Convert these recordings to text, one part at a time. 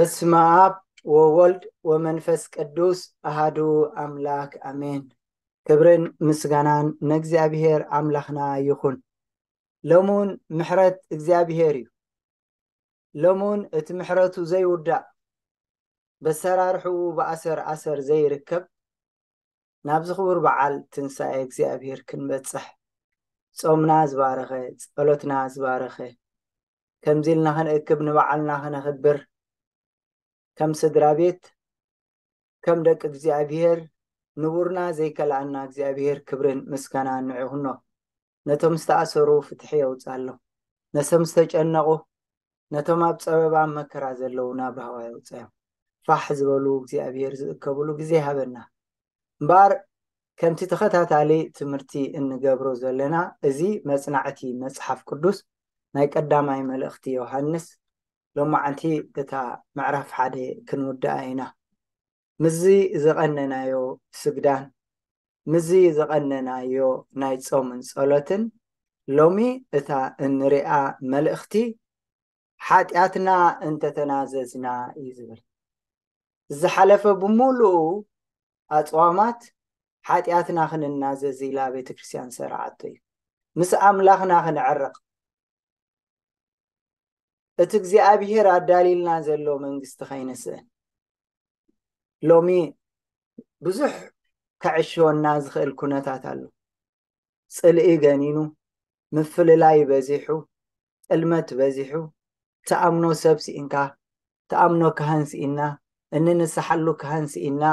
በስመ አብ ወወልድ ወመንፈስ ቅዱስ አሃዱ አምላክ አሜን። ክብርን ምስጋናን ንእግዚኣብሔር ኣምላኽና ይኹን። ሎሙን ምሕረት እግዚኣብሔር እዩ። ሎሙን እቲ ምሕረቱ ዘይውዳእ፣ በሰራርሕኡ ብኣሰር ኣሰር ዘይርከብ፣ ናብዚ ክቡር በዓል ትንሳኤ እግዚኣብሔር ክንበጽሕ፣ ጾምና ዝባረኸ፣ ጸሎትና ዝባረኸ፣ ከምዚ ኢልና ክንእክብ፣ ንበዓልና ክነኽብር፣ ከም ስድራ ቤት፣ ከም ደቂ እግዚኣብሔር፣ ንቡርና ዘይከልኣና እግዚኣብሔር ክብርን ምስጋናን ንዕኡ ይኹኖ። ነቶም ዝተኣሰሩ ፍትሒ የውጻሎም። ነቶም ዝተጨነቑ፣ ነቶም ኣብ ጸበባ መከራ ዘለዉ ናብ ራህዋ የውጻዮም። ፋሕ ዝበሉ እግዚኣብሔር ዝእከብሉ ግዜ ይሃበና። እምበኣር ከምቲ ተኸታታሊ ትምህርቲ እንገብሮ ዘለና፣ እዚ መጽናዕቲ መጽሓፍ ቅዱስ ናይ ቀዳማይ መልእኽቲ ዮሃንስ ሎማዓንቲ እታ ምዕራፍ ሓደ ክንውድኣ ኢና። ምስዚ ዝቐነናዮ ስግዳን፣ ምስዚ ዝቐነናዮ ናይ ጾምን ጸሎትን፣ ሎሚ እታ እንሪኣ መልእኽቲ ሓጢኣትና እንተተናዘዝና እዩ ዝብል። ዝሓለፈ ብምሉኡ ኣጽዋማት ሓጢኣትና ክንናዘዝ ኢላ ቤተ ክርስቲያን ዝሰርዓቶ እዩ። ምስ ኣምላኽና ክንዕረቕ፣ እቲ እግዚኣብሔር ኣዳልዩልና ዘሎ መንግስቲ ከይንስእን። ሎሚ ብዙሕ ከዕሽወና ዝኽእል ኩነታት ኣሎ። ጽልኢ ገኒኑ፣ ምፍልላይ በዚሑ፣ ጥልመት በዚሑ፣ ትኣምኖ ሰብ ስኢንካ፣ ትኣምኖ ካህን ስኢና፣ እንንስሓሉ ካህን ስኢና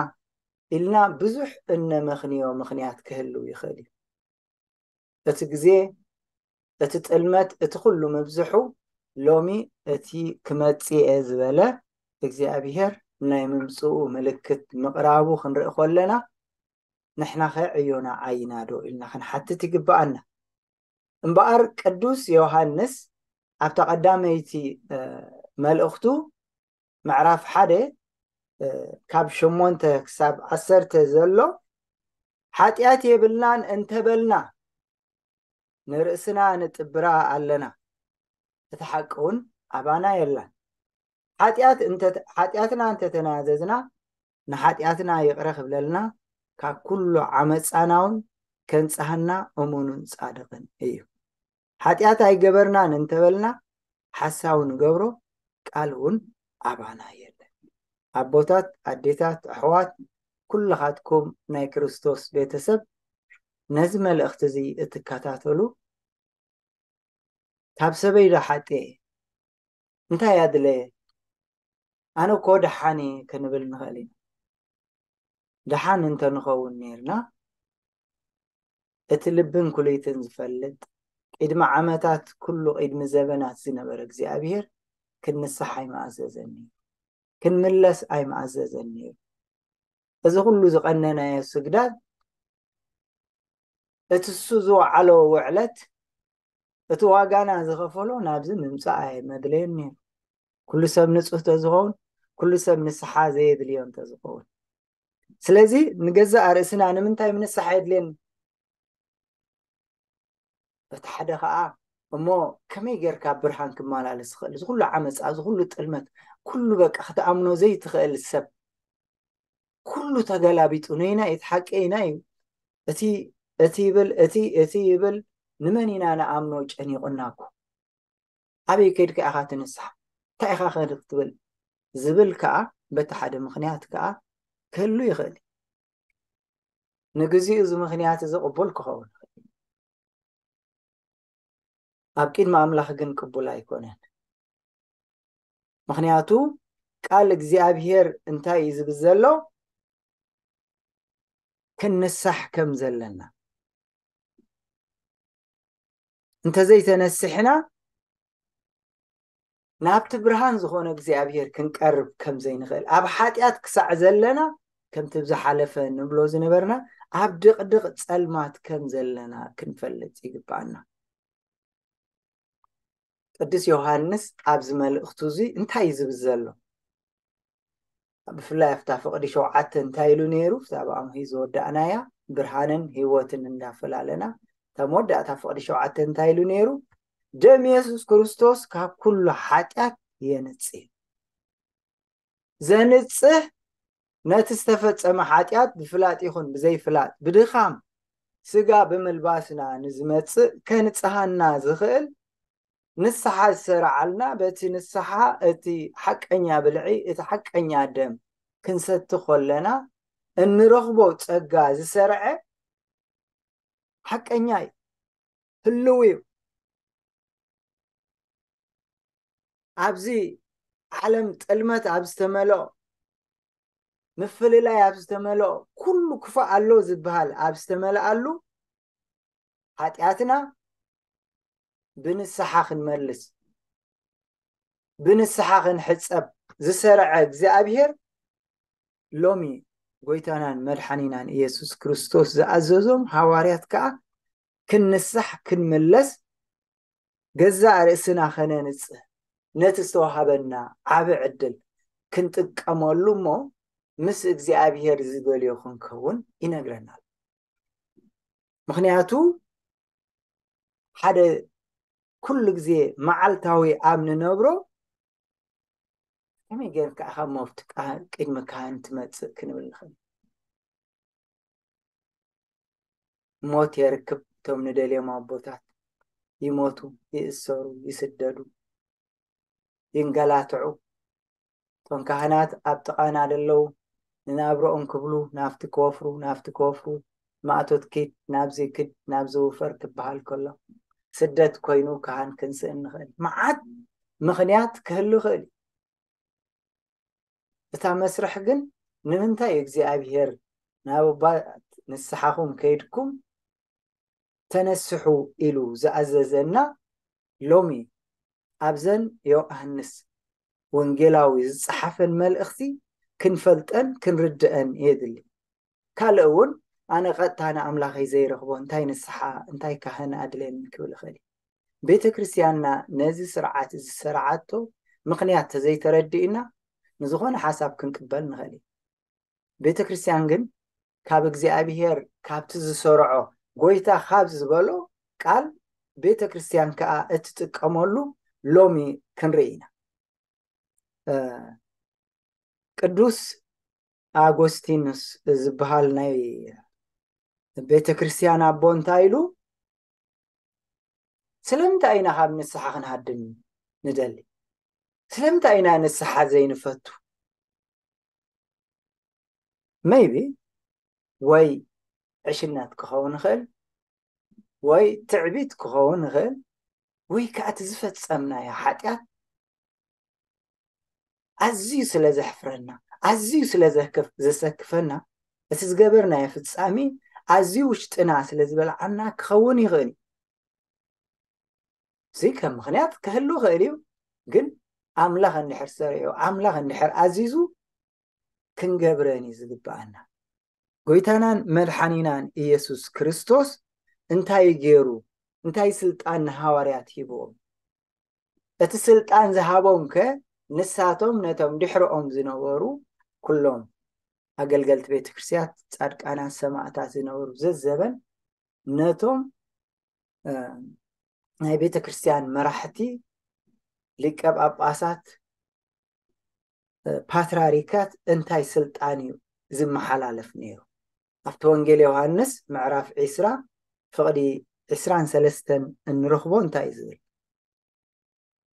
ኢልና ብዙሕ እነመኽንዮ ምኽንያት ክህልው ይኽእል እዩ። እቲ ግዜ፣ እቲ ጥልመት፣ እቲ ኩሉ ምብዝሑ፣ ሎሚ እቲ ክመጽእ እየ ዝበለ እግዚኣብሔር ናይ ምምጽኡ ምልክት ምቕራቡ ክንርኢ ከለና፣ ንሕናኸ ዕዮና ዓይና ዶ ኢልና ክንሓትት ይግብኣና። እምበኣር ቅዱስ ዮሃንስ ኣብታ ቀዳመይቲ፣ እ፣ መልእኽቱ ምዕራፍ ሓደ፣ እ፣ ካብ ሸሞንተ ክሳብ ዓሰርተ ዘሎ፣ ሓጢኣት የብልናን እንተበልና፣ ንርእስና ንጥብራ ኣለና፣ እቲ ሓቂ እውን ኣባና የላን። ሓጢኣት እንተ-፣ ሓጢኣትና እንተተናዘዝና፣ ንሓጢኣትና ይቕረ ክብለልና፣ ካብ ኩሉ ዓመጻና እውን ከንጽሃና እሙኑን ጻድቕን እዩ። ሓጢኣት ኣይገበርናን እንተበልና፣ ሓሳዊ ንገብሮ፣ ቃል እውን ኣባና የለን። ኣቦታት፣ ኣዴታት፣ ኣሕዋት፣ ኩልኻትኩም ናይ ክርስቶስ ቤተሰብ፣ ነዚ መልእኽቲ እዚ እትከታተሉ፣ ካብ ሰበይ ዶ ሓጥየ? እንታይ ኣድለየ? ኣነ እኮ ደሓን እየ ክንብል ንኽእል ኢና። ደሓን እንተንኸውን ነይርና፣ እቲ ልብን ኩልይትን ዝፈልጥ፣ ቅድሚ ዓመታት ኩሉ፣ ቅድሚ ዘበናት ዝነበረ እግዚኣብሔር ክንንሳሕ ኣይምኣዘዘን ነይሩ። ክንምለስ ኣይምኣዘዘን ነይሩ። እዚ ኩሉ ዝቐነናዮ ስግዳድ፣ እቲ እሱ ዝወዓሎ ውዕለት፣ እቲ ዋጋና ዝኸፈሎ ናብዚ ምምጻእ ኣየመድለዮን ነይሩ። ኩሉ ሰብ ንጹህ ተዝኸውን፣ ኩሉ ሰብ ንስሓ ዘየድልዮ እንተዝኸውን። ስለዚ ንገዛእ ርእስና ንምንታይ ምንሳሕ የድልየኒ? በቲ ሓደ ኸኣ፣ እሞ ከመይ ጌርካ ብርሃን ክመላለስ ይኽእል? እዚ ኩሉ ዓመጻ፣ እዚ ኩሉ ጥልመት፣ ኩሉ በቃ ክትኣምኖ ዘይትኽእል ሰብ፣ ኩሉ ተገላቢጡ፣ ነይናይ እቲ ሓቂ ኣይናይ እዩ። እቲ፣ እቲ ይብል፣ እቲ፣ እቲ ይብል፣ ንመን ኢና ንኣምኖ? ጨኒቑና እኮ። ኣበይ ከይድካ ኢኻ ትንሳሕ? እንታይ ኢኻ ከ ክትብል? ዝብል ከኣ በቲ ሓደ ምኽንያት ከኣ ክህሉ ይኽእል እዩ። ንግዚኡ እዚ ምኽንያት እዚ ቅቡል ክኸውን ይኽእል እዩ። ኣብ ቅድሚ ኣምላኽ ግን ቅቡል ኣይኮነን። ምኽንያቱ ቃል እግዚኣብሔር እንታይ እዩ ዝብል ዘሎ? ክንንሳሕ ከም ዘለና። እንተዘይተነሲሕና ናብቲ ብርሃን ዝኾነ እግዚኣብሔር ክንቀርብ ከም ዘይንኽእል፣ ኣብ ሓጢኣት ክሳዕ ዘለና ከምቲ ብዝሓለፈ ንብሎ ዝነበርና ኣብ ድቕድቕ ጸልማት ከም ዘለና ክንፈልጥ ይግብኣና። ቅዱስ ዮሃንስ ኣብዚ መልእኽቱ እዚ እንታይ እዩ ዝብል ዘሎ? ብፍላይ ኣብታ ፍቕዲ ሸውዓተ እንታይ ኢሉ ነይሩ? ኣብታ ብኣምሂ ዝወዳእናያ ብርሃንን ህይወትን እንዳፈላለና፣ እታ መወዳእታ ፍቕዲ ሸውዓተ እንታይ ኢሉ ነይሩ? ደም የሱስ ክርስቶስ ካብ ኩሉ ሓጢኣት የንጽህ። ዘንጽህ፣ ነቲ ዝተፈጸመ ሓጢኣት ብፍላጥ ይኹን ብዘይፍላጥ፣ ብድኻም ስጋ ብምልባስና ንዝመጽእ ከንጽሃና ዝኽእል ንስሓ ዝሰርዓልና፣ በቲ ንስሓ እቲ ሓቀኛ ብልዒ፣ እቲ ሓቀኛ ደም ክንሰቲ ከለና እንረኽቦ ጸጋ ዝሰርዐ ሓቀኛ እዩ፣ ህልው እዩ። ኣብዚ ዓለም ጥልመት ኣብ ዝተመልኦ፣ ምፍልላይ ኣብ ዝተመልኦ፣ ኩሉ ክፉእ ኣሎ ዝበሃል ኣብ ዝተመልኣሉ፣ ሓጢኣትና ብንስሓ ክንመልስ፣ ብንስሓ ክንሕጸብ ዝሰርዐ እግዚኣብሔር፣ ሎሚ ጎይታናን መድሓኒናን ኢየሱስ ክርስቶስ ዝኣዘዞም ሃዋርያት ከኣ ክንንሳሕ ክንምለስ፣ ገዛእ ርእስና ከነንጽህ፣ ነቲ ዝተዋሃበና ዓቢ ዕድል ክንጥቀመሉ እሞ ምስ እግዚኣብሔር ዝደልዮ ክንከውን ይነግረና ኣሎ። ምኽንያቱ ሓደ ኩሉ ግዜ መዓልታዊ ኣብ ንነብሮ ከመይ ጌርካ ኢኻ ሞት ቃ-፣ ቅድሚ ካህን ትመጽእ ክንብል ንኽእል። ሞት የርክብ፣ እቶም ንደልዮም ኣቦታት ይሞቱ፣ ይእሰሩ፣ ይስደዱ፣ ይንገላትዑ። እቶም ካህናት ኣብ ጥቓና ደለዉ ንናብረኦም ክብሉ ናብቲ ክወፍሩ፣ ናብቲ ክወፍሩ፣ ማእቶት ኪድ፣ ናብዚ ክድ፣ ናብዚ ውፈር ክበሃል ከሎ፣ ስደት ኮይኑ ካህን ክንስእን ንኽእል። መዓት ምኽንያት ክህሉ ይኽእል እዩ። እታ መስርሕ ግን ንምንታይ እግዚኣብሔር ናብ ኣባት ንስሓኹም ከይድኩም ተነስሑ ኢሉ ዝኣዘዘና ሎሚ ኣብዘን ዮሃንስ ወንጌላዊ ዝጸሓፈን መልእኽቲ ክንፈልጠን ክንርድአን የድሊ። ካልእ እውን ኣነ ቀጥታ ንኣምላኸይ ዘይረኽቦ እንታይ ንስሓ እንታይ ካህን ኣድልየኒ ክብል እኽእል እዩ። ቤተ ክርስቲያንና ነዚ ስርዓት እዚ ዝሰርዓቶ ምኽንያት ተዘይተረዲእና ንዝኾነ ሓሳብ ክንቅበል ንኽእል እዩ። ቤተ ክርስቲያን ግን ካብ እግዚኣብሔር ካብቲ ዝሰርዖ ጎይታ ካብ ዝበሎ ቃል ቤተ ክርስቲያን ከኣ እትጥቀመሉ ሎሚ ክንርኢ ኢና። ቅዱስ ኣጎስቲኖስ ዝበሃል ናይ ቤተ ክርስቲያን ኣቦ እንታይ ኢሉ? ስለምንታይ ኢና ካብ ንስሓ ክንሃድም ንደሊ? ስለምንታይ ኢና ንስሓ ዘይንፈቱ? ሜይቢ ወይ ዕሽነት ክኸውን ይኽእል፣ ወይ ትዕቢት ክኸውን ይኽእል፣ ወይ ከዓ እቲ ዝፈጸምናዮ ሓጢኣት ኣዝዩ ስለ ዘሕፍረና፣ ኣዝዩ ስለ ዘሰክፈና፣ እቲ ዝገበርናዮ ፍጻሜ ኣዝዩ ውሽጥና ስለ ዝበልዓና ክኸውን ይኽእል እዩ። እዚ ከም ምኽንያት ክህሉ ይኽእል እዩ፣ ግን ኣምላኽ እንድሕር ሰሪዑ፣ ኣምላኽ እንድሕር ኣዚዙ ክንገብረን እዩ ዝግብኣና። ጎይታናን መድሓኒናን ኢየሱስ ክርስቶስ እንታይ ገይሩ? እንታይ ስልጣን ንሃዋርያት ሂብዎም? እቲ ስልጣን ዝሃቦም ከ ንሳቶም ነቶም ድሕርኦም ዝነበሩ ኩሎም ኣገልገልቲ ቤተ ክርስቲያን፣ ጻድቃናት፣ ሰማዕታት ዝነበሩ ዘዘበን ነቶም ናይ ቤተ ክርስቲያን መራሕቲ፣ ሊቀ ጳጳሳት፣ ፓትርያርካት እንታይ ስልጣን እዩ ዝመሓላለፍ ነይሩ? ኣብቲ ወንጌል ዮሃንስ ምዕራፍ ዒስራ ፍቕዲ ዒስራን ሰለስተን እንረኽቦ እንታይ እዩ ዝብል?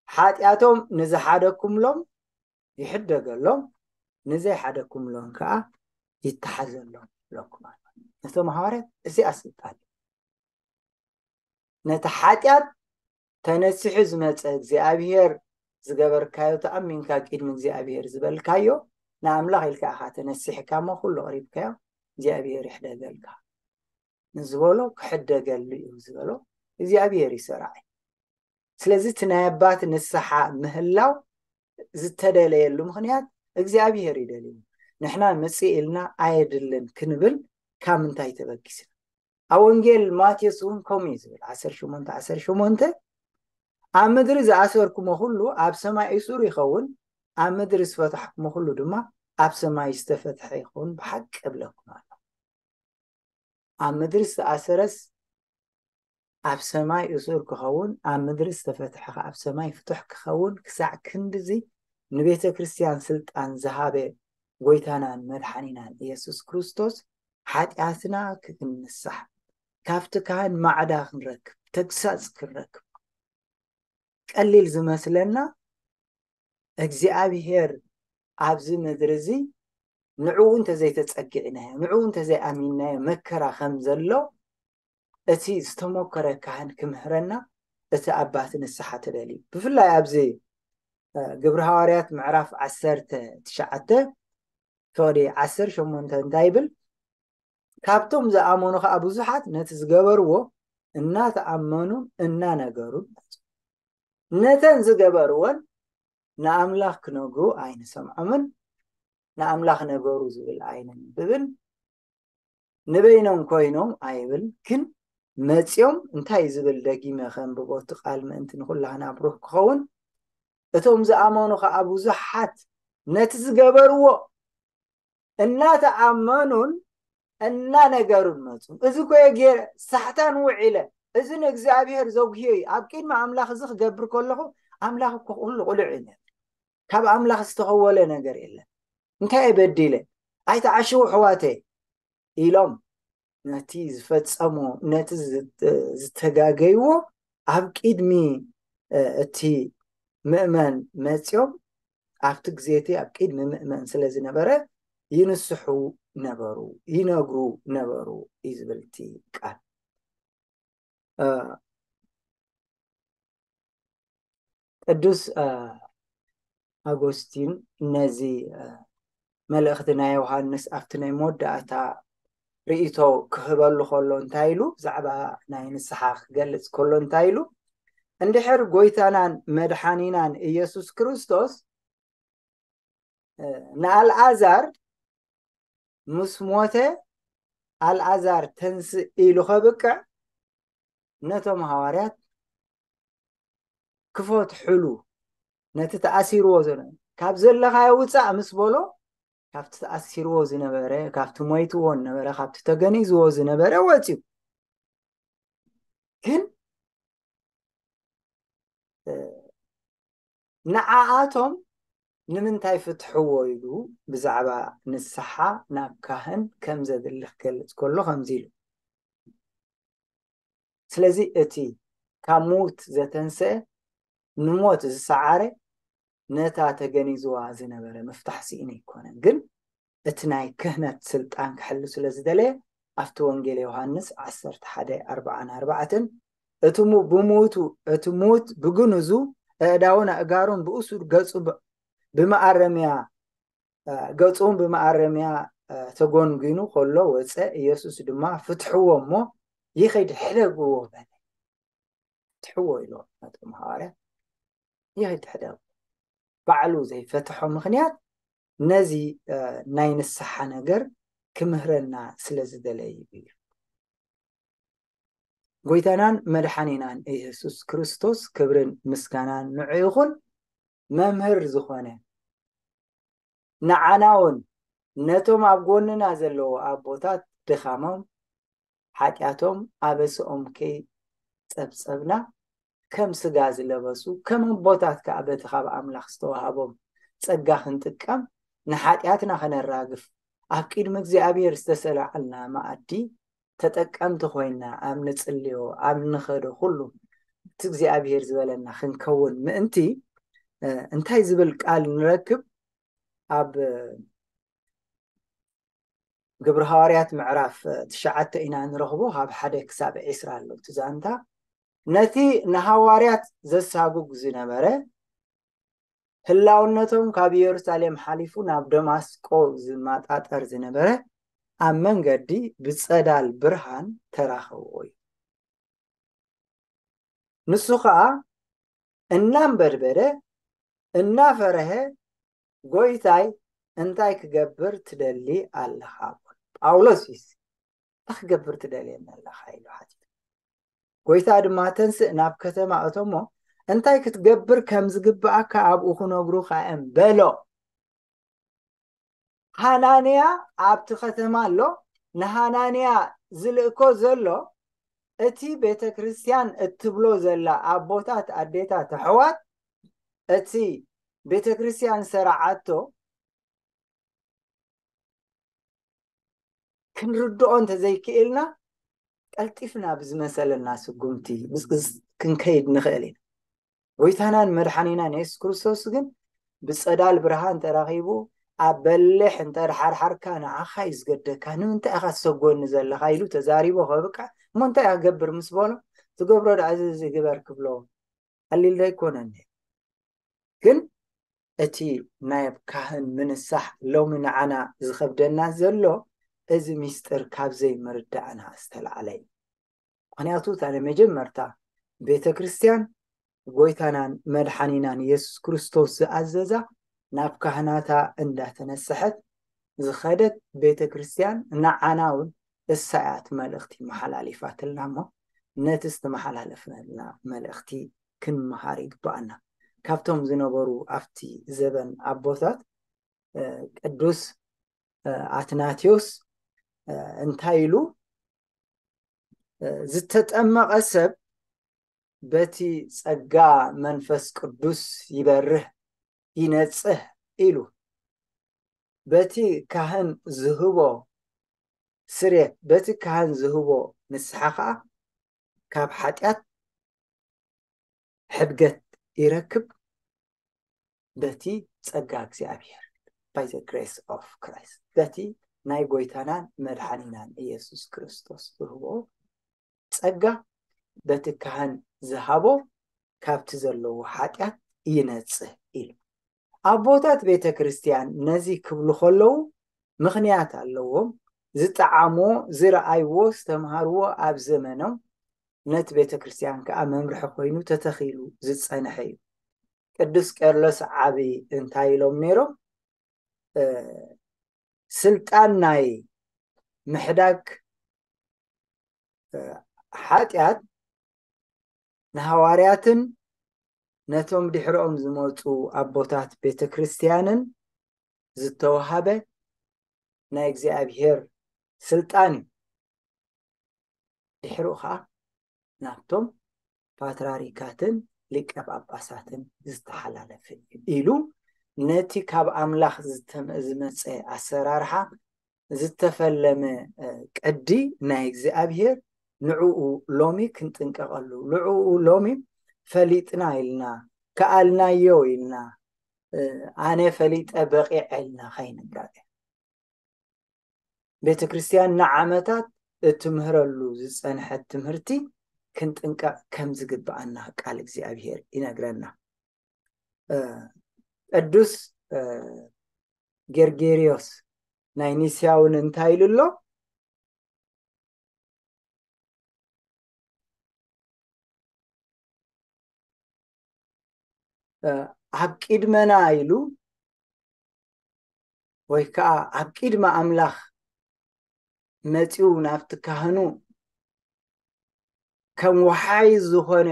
ሓጢኣቶም ንዝሓደኩምሎም ይሕደገሎም፣ ንዘይሓደኩምሎም ከዓ ይተሓዘሎም ኢለኩም ኣሎ። ነቶም ሃዋርያት እዚኣ ስልጣን እዩ። ነቲ ሓጢኣት ተነሲሑ ዝመፀ እግዚኣብሔር ዝገበርካዮ ተኣሚንካ ቅድሚ እግዚኣብሔር ዝበልካዮ ንኣምላኽ ኢልካ ኢኻ ተነሲሕካ እሞ ኩሉ ኣቕሪብካዮ እግዚኣብሔር ይሕደገልካ ንዝበሎ ክሕደገሉ እዩ ዝበሎ እግዚኣብሔር እዩ ሰራዒ። ስለዚ እቲ ናይ ኣባት ንስሓ ምህላው ዝተደለየሉ ምኽንያት እግዚኣብሔር እዩ ደልዩ። ንሕና ምፅእ ኢልና ኣየድልን ክንብል ካብ ምንታይ ተበጊስና? ኣብ ወንጌል ማቴዎስ እውን ከምኡ እዩ ዝብል ዓሰርተ ሸሞንተ ዓሰርተ ሸሞንተ ኣብ ምድሪ ዝኣሰርኩሞ ኩሉ ኣብ ሰማይ እሱር ይኸውን፣ ኣብ ምድሪ ዝፈታሕኩሞ ኩሉ ድማ ኣብ ሰማይ ዝተፈትሐ ይኸውን ብሓቂ እብለኩም ኣሎ። ኣብ ምድሪ ዝተኣሰረስ ኣብ ሰማይ እሱር ክኸውን፣ ኣብ ምድሪ ዝተፈትሐ ኣብ ሰማይ ፍቱሕ ክኸውን ክሳዕ ክንድዚ ንቤተ ክርስቲያን ስልጣን ዝሃበ ጎይታናን መድሓኒናን ኢየሱስ ክርስቶስ፣ ሓጢኣትና ክንንሳሕ፣ ካብቲ ካህን ማዕዳ ክንረክብ፣ ተግሳጽ ክንረክብ፣ ቀሊል ዝመስለና፣ እግዚኣብሔር ኣብዚ ምድሪ እዚ ንዕኡ እንተዘይተጸጊዕናዮ፣ ንዕኡ እንተዘይኣሚንናዮ መከራ ከም ዘሎ እቲ ዝተሞከረ ካህን ክምህረና እቲ ኣባት ንስሓ ትደልዩ። ብፍላይ ኣብዚ ግብሪ ሃዋርያት ምዕራፍ ዓሰርተ ትሽዓተ ፍቕዲ ዓሰርተ ሸሞንተ እንታይ ይብል? ካብቶም ዝኣመኑ ኸዓ ብዙሓት ነቲ ዝገበርዎ እናተኣመኑን እናነገሩን መጹ። ነተን ዝገበርወን ንኣምላኽ ክነግሩ ኣይንሰምዖምን፣ ንኣምላኽ ነገሩ ዝብል ኣይነንብብን፣ ንበይኖም ኮይኖም ኣይብል፣ ግን መጺኦም እንታይ ዝብል ደጊመ ከንብቦ እቲ ቃል ምእንቲ ንኹላህና ብሩህ ክኸውን፣ እቶም ዝኣመኑ ኸዓ ብዙሓት ነቲ ዝገበርዎ እናተኣመኑን እናነገሩን መጹ። እዚ ኮየ ገይረ ሳሕታን ውዒለ፣ እዚ ንእግዚኣብሔር ዘጉህዮ እዩ። ኣብ ቅድሚ ኣምላኽ እዚ ክገብር ከለኹ ኣምላኽ እኮ ኩሉ ቁሉዕ እዩ። ካብ ኣምላኽ ዝተኸወለ ነገር የለን። እንታይ እየ በዲለ? ኣይተዓሽዉ ኣሕዋተይ ኢሎም ነቲ ዝፈጸሞ፣ ነቲ ዝተጋገይዎ ኣብ ቅድሚ እቲ ምእመን መጺኦም ኣብቲ ግዜ እቲ ኣብ ቅድሚ ምእመን ስለ ዝነበረ ይንስሑ ነበሩ፣ ይነግሩ ነበሩ እዩ ዝብል እቲ ቃል። ቅዱስ ኣጎስቲን ነዚ መልእኽቲ ናይ ዮሃንስ ኣብቲ ናይ መወዳእታ ርእይቶ ክህበሉ ከሎ እንታይ ኢሉ፣ ብዛዕባ ናይ ንስሓ ክገልጽ ከሎ እንታይ ኢሉ፣ እንድሕር ጎይታናን መድሓኒናን ኢየሱስ ክርስቶስ ንኣልኣዛር ምስ ሞተ ኣልኣዛር ተንስእ ኢሉ ከብቅዕ ነቶም ሃዋርያት ክፈትሕሉ፣ ነቲ ተኣሲርዎ ዘሎ ካብ ዘለኻዮ ውፃእ ምስ በሎ፣ ካብቲ ተኣሲርዎ ዝነበረ፣ ካብቲ ሞይትዎ ነበረ፣ ካብቲ ተገኒዝዎ ዝነበረ ወፂኡ። ግን ንዓኣቶም ንምንታይ ፍትሕዎ ኢሉ ብዛዕባ ንስሓ ናብ ካህን ከም ዘድሊ ክገልጽ ከሎ ከምዚ ኢሉ፣ ስለዚ እቲ ካብ ምዉት ዘተንስአ ንሞት ዝሰዓረ ነታ ተገኒዝዋ ዝነበረ ምፍታሕ ስኢኑ ኣይኮነን፣ ግን እቲ ናይ ክህነት ስልጣን ክሕሉ ስለ ዝደለየ ኣብቲ ወንጌል ዮሃንስ ዓሰርተ ሓደ ኣርብዓን ኣርባዕተን እቲ ብሙቱ እቲ ሙት ብግንዙ ኣእዳውን ኣእጋሩን ብእሱር ገጹ ብመኣረምያ ገጹን ብመኣረምያ ተጎንጒኑ ከሎ ወፀ። ኢየሱስ ድማ ፍትሕዎ እሞ ይኸይድ ሕደግዎ በለ። ፍትሕዎ ኢሎ ነቶም ሃዋርያ ይኸይድ ሕደግዎ። ባዕሉ ዘይፈትሖ ምኽንያት ነዚ ናይ ንስሓ ነገር ክምህረና ስለ ዝደለዩ እዩ። ጎይታናን መድሓኒናን ኢየሱስ ክርስቶስ ክብርን ምስጋናን ንዑ ይኹን። መምህር ዝኾነ ንዓና እውን ነቶም ኣብ ጎንና ዘለዉ ኣቦታት ድኻሞም ሓጢኣቶም ኣበስኦም ከይጸብጸብና ከም ስጋ ዝለበሱ ከም ኣቦታት ከኣ በቲ ካብ ኣምላኽ ዝተዋህቦም ጸጋ ክንጥቀም ንሓጢኣትና ከነራግፍ ኣብ ቅድሚ እግዚኣብሔር ዝተሰላዓልና መኣዲ ተጠቀምቲ ኮይና ኣብ ንጽልዮ ኣብ ንኸዶ ኩሉ እቲ እግዚኣብሔር ዝበለና ክንከውን ምእንቲ እንታይ ዝብል ቃል ንረክብ? ኣብ ግብሪ ሃዋርያት ምዕራፍ ትሽዓተ ኢና ንረኽቦ፣ ካብ ሓደ ክሳብ ዒስራ ኣሎ እቲ ዛንታ። ነቲ ንሃዋርያት ዘሳጉግ ዝነበረ ህላውነቶም ካብ ኢየሩሳሌም ሓሊፉ ናብ ደማስቆ ዝመጣጠር ዝነበረ ኣብ መንገዲ ብጸዳል ብርሃን ተራኸብዎ እዩ። ንሱ ኸኣ እናንበድበደ እናፈረሀ ጎይታይ እንታይ ክገብር ትደሊ ኣለኻ? ጳውሎስ እዩ እንታይ ክገብር ትደልየኒ ኣለኻ ኢሉ ሓቲቱ። ጎይታ ድማ ተንስእ ናብ ከተማ እቶሞ እንታይ ክትገብር ከም ዝግብኣካ ኣብኡ ክነግሩኻ እዮም በሎ። ሃናንያ ኣብቲ ከተማ ኣሎ። ንሃናንያ ዝልእኮ ዘሎ እቲ ቤተ ክርስቲያን እትብሎ ዘላ ኣቦታት ኣዴታት ኣሕዋት እቲ ቤተ ክርስቲያን ዝሰርዓቶ ክንርድኦ እንተዘይክእልና ቀልጢፍና ብዝመሰለና ስጉምቲ ክንከይድ ንኽእል ኢና። ጎይታናን መድሓኒናን የሱስ ክርስቶስ ግን ብጸዳል ብርሃን ተራኺቡ ኣብ በሊሕ እንተድሓርሓርካ ንዓኻ እዩ ዝገደካ፣ ንምንታይ ኢኻ ትሰጎኒ ዘለኻ ኢሉ ተዛሪቦ ከብቅዕ እሞ እንታይ እያ ክገብር ምስ በሎ ትገብሮ ደኣ እዚ ግበር ክብሎ ቀሊል ዶ ኣይኮነን። ግን እቲ ናይ ካህን ምንሳሕ ሎሚ ንዓና ዝኸብደና ዘሎ እዚ ሚስጥር ካብ ዘይምርዳእና ዝተላዕለ እዩ። ምክንያቱ እታ ናይ መጀመርታ ቤተ ክርስቲያን ጎይታናን መድሓኒናን የሱስ ክርስቶስ ዝኣዘዛ ናብ ካህናታ እንዳተነስሐት ዝኸደት ቤተ ክርስቲያን ንዓና እውን እሳ እያ እቲ መልእኽቲ መሓላሊፋትልና እሞ ነቲ ዝተመሓላለፍነልና መልእኽቲ ክንመሃር ይግባኣና። ካብቶም ዝነበሩ ኣብቲ ዘበን ኣቦታት ቅዱስ ኣትናቴዎስ እንታይ ኢሉ ዝተጠመቐ ሰብ በቲ ጸጋ መንፈስ ቅዱስ ይበርህ ይነጽህ ኢሉ በቲ ካህን ዝህቦ ስሬት በቲ ካህን ዝህቦ ንስሓ ከዓ ካብ ሓጢኣት ሕድገት ይረክብ በቲ ጸጋ እግዚኣብሔር by the grace of Christ በቲ ናይ ጎይታናን መድሓኒናን ኢየሱስ ክርስቶስ ዝህቦ ጸጋ በቲ ካህን ዝሃቦ ካብቲ ዘለዎ ሓጢኣት ይነጽህ ኢሉ ኣቦታት ቤተ ክርስቲያን ነዚ ክብሉ ከለዉ ምኽንያት ኣለዎም። ዝጠዓሞ ዝረኣይዎ ዝተምሃርዎ ኣብ ዘመኖም ነቲ ቤተ ክርስቲያን ከዓ መምርሒ ኮይኑ ተተኺሉ ዝጸንሐ እዩ። ቅዱስ ቄርሎስ ዓቢ እንታይ ኢሎም ነይሮም? ስልጣን ናይ ምሕዳግ ሓጢኣት ንሃዋርያትን ነቶም ድሕሪኦም ዝመፁ ኣቦታት ቤተ ክርስቲያንን ዝተወሃበ ናይ እግዚኣብሔር ስልጣን እዩ። ድሕሪኡ ከዓ ናብቶም ፓትራሪካትን ሊቀ ጳጳሳትን ዝተሓላለፈ እዩ ኢሉ ነቲ ካብ ኣምላኽ ዝተመ- ዝመፀ ኣሰራርሓ ዝተፈለመ ቅዲ ናይ እግዚኣብሔር ንዕኡ ሎሚ ክንጥንቀቐሉ ንዕኡ ሎሚ ፈሊጥና ኢልና ከኣልናዮ ኢልና ኣነ ፈሊጠ በቂዐ ኢልና ከይንጋገ ቤተ ክርስቲያን ንዓመታት እትምህረሉ ዝጸንሐት ትምህርቲ ክንጥንቀቕ ከም ዝግብኣና ቃል እግዚኣብሔር ይነግረና። ቅዱስ ጌርጌሪዮስ ናይ ኒስያ እውን እንታይ ኢሉ ኣሎ? ኣብ ቂድመና ኢሉ ወይ ከዓ ኣብ ቂድሚ ኣምላኽ መፂኡ ናብቲ ካህኑ ከም ወሓይ ዝኾነ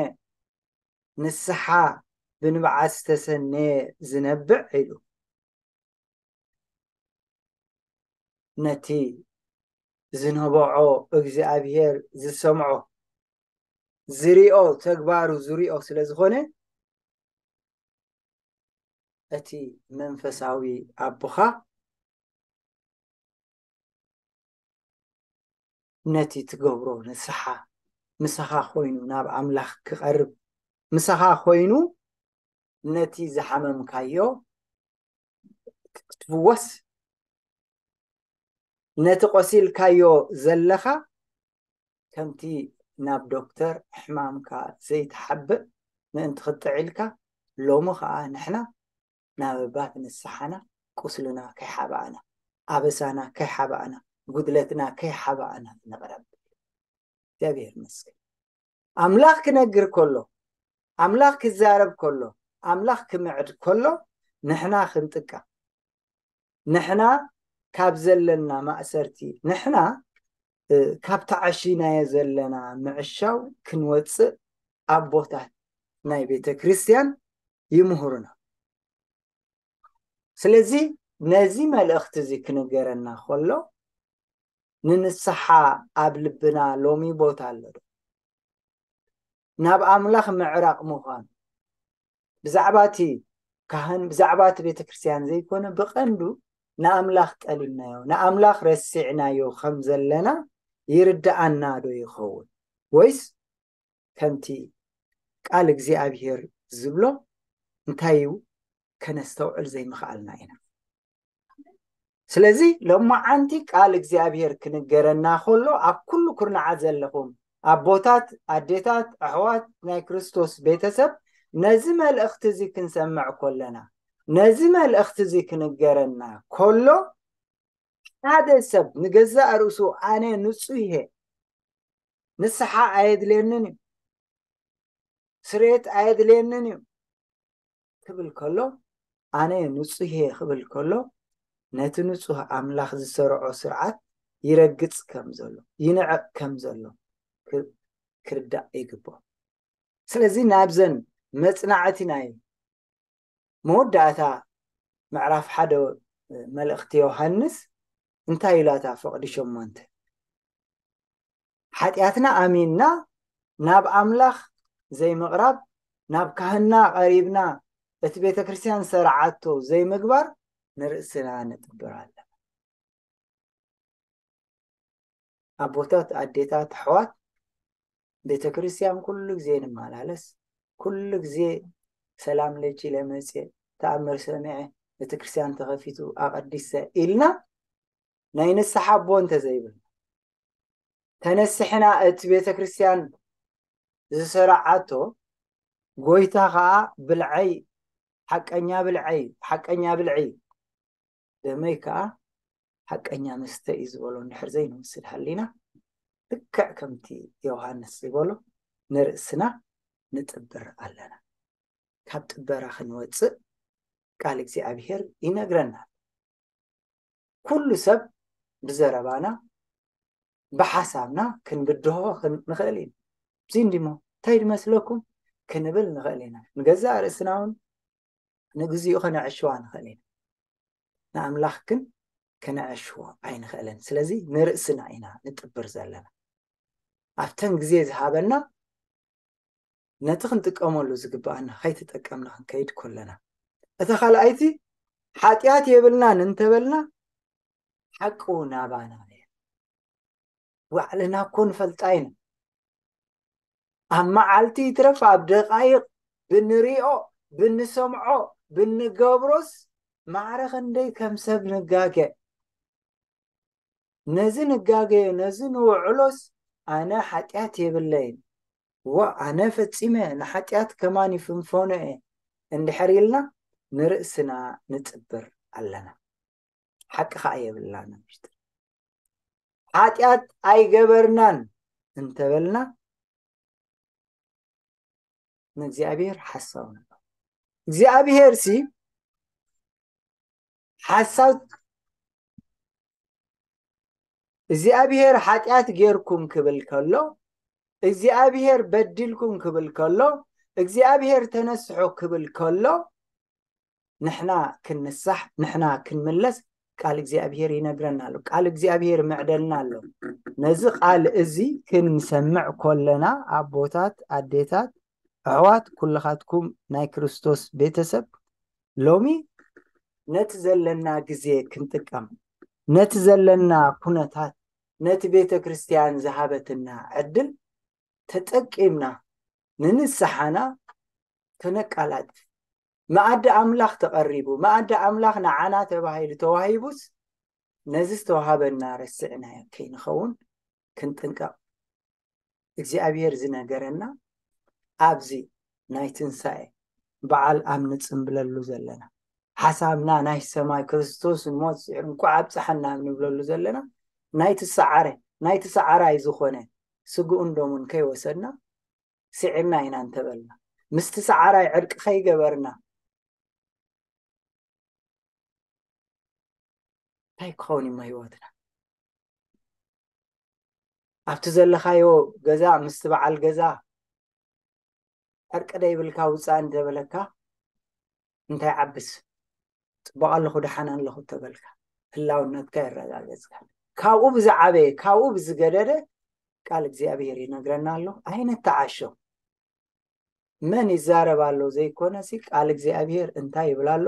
ንስሓ ብንብዓት ዝተሰነየ ዝነብዕ ኢሉ ነቲ ዝነበዖ እግዚኣብሔር ዝሰምዖ ዝሪኦ ተግባሩ ዝሪኦ ስለ ዝኾነ እቲ መንፈሳዊ ኣቦኻ ነቲ ትገብሮ ንስሓ ምሳኻ ኮይኑ ናብ ኣምላኽ ክቐርብ ምሳኻ ኮይኑ ነቲ ዝሓመምካዮ ክትፍወስ ነቲ ቆሲልካዮ ዘለኻ ከምቲ ናብ ዶክተር ሕማምካ ዘይትሓብእ ምእንቲ ክትጥዕ ኢልካ ሎሚ ኸዓ ንሕና ናብ ኣባት ንስሓና ቁስልና ከይሓባእና ኣበሳና ከይሓባእና ጉድለትና ከይሓባእና ንቕረብ። እግዚኣብሔር ይመስገን። ኣምላኽ ክነግር ከሎ ኣምላኽ ክዛረብ ከሎ ኣምላኽ ክምዕድ ከሎ ንሕና ክንጥቀም ንሕና ካብ ዘለና ማእሰርቲ ንሕና ካብ ተዓሺናዮ ዘለና ምዕሻው ክንወፅእ ኣቦታት ናይ ቤተ ክርስቲያን ይምህሩና። ስለዚ ነዚ መልእኽቲ እዚ ክንገረና ከሎ ንንስሓ ኣብ ልብና ሎሚ ቦታ ኣሎ ዶ? ናብ ኣምላኽ ምዕራቕ ምዃን ብዛዕባ እቲ ካህን ብዛዕባ እቲ ቤተክርስትያን ዘይኮነ፣ ብቐንዱ ንኣምላኽ ጠሊምናዮ፣ ንኣምላኽ ረሲዕናዮ ከም ዘለና ይርድኣና ዶ ይኸውን? ወይስ ከምቲ ቃል እግዚኣብሔር ዝብሎ እንታይ እዩ? ከነስተውዕል ዘይምኽኣልና ኢና። ስለዚ ሎማዓንቲ ቃል እግዚኣብሔር ክንገረና ከሎ፣ ኣብ ኩሉ ኩርናዓት ዘለኹም ኣቦታት፣ ኣዴታት፣ ኣሕዋት፣ ናይ ክርስቶስ ቤተሰብ፣ ነዚ መልእኽቲ እዚ ክንሰምዕ ከለና፣ ነዚ መልእኽቲ እዚ ክንገረና ከሎ፣ ሓደ ሰብ ንገዛእ ርእሱ ኣነ ንጹህ እየ፣ ንስሓ ኣየድልየንን እዩ፣ ስርየት ኣየድልየንን እዩ ክብል ከሎ፣ ኣነ ንጹህ እየ ክብል ከሎ፣ ነቲ ንጹህ ኣምላኽ ዝሰርዖ ስርዓት ይረግጽ ከም ዘሎ፣ ይንዕቕ ከም ዘሎ ክ-፣ ክርዳእ ይግብኦ። ስለዚ ናብዘን መጽናዕቲ ናይ መወዳእታ ምዕራፍ ሓደ መልእኽቲ ዮሃንስ እንታይ ኢላታ? ፍቕዲ ሸሞንተ፣ ሓጢኣትና ኣሚንና ናብ ኣምላኽ ዘይምቕራብ፣ ናብ ካህንና ቀሪብና እቲ ቤተ ክርስቲያን ዝሰርዓቶ ዘይምግባር ንርእስና ንጥብር ኣለና። ኣቦታት፣ ኣዴታት፣ ኣሕዋት፣ ቤተ ክርስቲያን ኩሉ ግዜ ንመላለስ፣ ኩሉ ግዜ ሰላም ለኪ ለመጽእ፣ ተኣምር ሰሚዐ፣ ቤተ ክርስቲያን ተኸፊቱ ኣቐዲሰ ኢልና ናይ ንስሓ ኣቦ እንተዘይብልና፣ ተነስሕና እቲ ቤተ ክርስቲያን ዝሰራዓቶ ጎይታ ኸኣ ብልዐይ፣ ሓቀኛ ብልዐይ፣ ሓቀኛ ብልዒ፣ ደመይ ከኣ ሓቀኛ መስተ እዩ ዝበሎ እንድሕር ዘይንወስድ ሃሊና፣ ልክዕ ከምቲ ዮሃንስ ዝበሎ ንርእስና ንጥብር ኣለና። ካብ ጥበራ ክንወጽእ ቃል እግዚኣብሔር ይነግረና። ኩሉ ሰብ ብዘረባና፣ ብሓሳብና ክንብድሆ ክን-፣ ንኽእል ኢና። እዚ እንዲሞ እንታይ ድመስለኩም ክንብል ንኽእል ኢና። ንገዛእ ርእስና እውን ንግዚኡ ከነዕሽዋ ንኽእል ኢና። ንኣምላኽ ግን ከነዕሽዎ ኣይንኽእልን። ስለዚ ንርእስና ኢና ንጥብር ዘለና። ኣብተን ግዜ ዝሃበና ነቲ ክንጥቀመሉ ዝግብኣና ከይተጠቀምና ክንከይድ ከለና፣ እታ ካልኣይቲ ሓጢኣት የብልናን እንተበልና ሓቂ እውን ኣባና እያ። ባዕልና እኮ ንፈልጣ ኢና። ኣብ መዓልቲ ይትረፍ ኣብ ደቃይቕ ብንሪኦ፣ ብንሰምዖ፣ ብንገብሮስ ማዕረ ክንደይ ከም ሰብ ንጋገ። ነዚ ንጋገዮ፣ ነዚ ንውዕሎስ ኣነ ሓጢኣት የብለይን፣ ዋ ኣነ ፈጺመ ንሓጢኣት ከማን ይፍንፈኖ እየ እንድሕር ኢልና ንርእስና ንጥብር ኣለና። ሓቂ ኸኣ የብልናን። ሓጢኣት ኣይገበርናን እንተበልና ንእግዚኣብሔር ሓሳው ንብሎ። እግዚኣብሔር ሲ ሓሳው፣ እግዚኣብሔር ሓጢኣት ጌርኩም ክብል ከሎ፣ እግዚኣብሔር በዲልኩም ክብል ከሎ፣ እግዚኣብሔር ተነስሑ ክብል ከሎ፣ ንሕና ክንንሳሕ፣ ንሕና ክንምለስ ቃል እግዚኣብሔር ይነግረና ኣሎ። ቃል እግዚኣብሔር ይምዕደልና ኣሎ። ነዚ ቃል እዚ ክንሰምዕ ከለና ኣቦታት፣ ኣዴታት፣ ኣሕዋት፣ ኩልኻትኩም ናይ ክርስቶስ ቤተሰብ ሎሚ ነቲ ዘለና ግዜ ክንጥቀም፣ ነቲ ዘለና ኩነታት፣ ነቲ ቤተ ክርስቲያን ዝሃበትና ዕድል ተጠቂምና ንንስሓና ከነቃላጥፍ፣ መኣዲ ኣምላኽ ተቐሪቡ፣ መኣዲ ኣምላኽ ንዓና ተባሂሉ ተዋሂቡስ ነዚ ዝተዋሃበና ረሲዕናዮ ከይንኸውን ክንጥንቀቕ እግዚኣብሔር ዝነገረና ኣብዚ ናይ ትንሳኤ በዓል ኣብ ንጽምብለሉ ዘለና፣ ሓሳብና ናይ ሰማይ ክርስቶስ ሞት ስዒሩ እንቋዕ ኣብጽሓና ኣብ ንብለሉ ዘለና፣ ናይቲ ሰዓረ፣ ናይቲ ሰዓራይ ዝኾነ ስግኡን ደሙን ከይወሰድና ስዒርና ኢና እንተበልና፣ ምስቲ ሰዓራይ ዕርቂ ከይገበርና፣ እንታይ ክኸውን እሞ ህይወትና? ኣብቲ ዘለኻዮ ገዛ ምስቲ በዓል ገዛ ዕርቂ ደይብልካ ውጻእ እንተበለካ፣ እንታይ ዓብስ? ጽቡቕ ኣለኹ፣ ደሓን ኣለኹ ተበልካ፣ ህላውነትካ የረጋገጽካ። ካብኡ ብዝዓበየ፣ ካብኡ ብዝገደደ ቃል እግዚኣብሔር ይነግረና ኣሎ። ኣይነተዓሾ። መን ይዛረብ ኣሎ ዘይኮነሲ፣ ቃል እግዚኣብሔር እንታይ ይብል ኣሎ?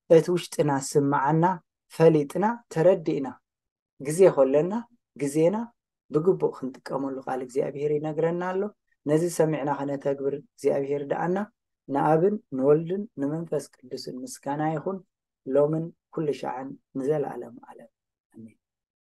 እቲ ውሽጥና ስምዓና ፈሊጥና ተረዲእና፣ ግዜ ከለና ግዜና ብግቡእ ክንጥቀመሉ ቃል እግዚኣብሔር ይነግረና ኣሎ። ነዚ ሰሚዕና ከነተግብር እግዚኣብሔር ደኣና። ንኣብን ንወልድን ንመንፈስ ቅዱስን ምስጋና ይኹን፣ ሎምን ኩሉ ሻዕን ንዘለኣለም ዓለም።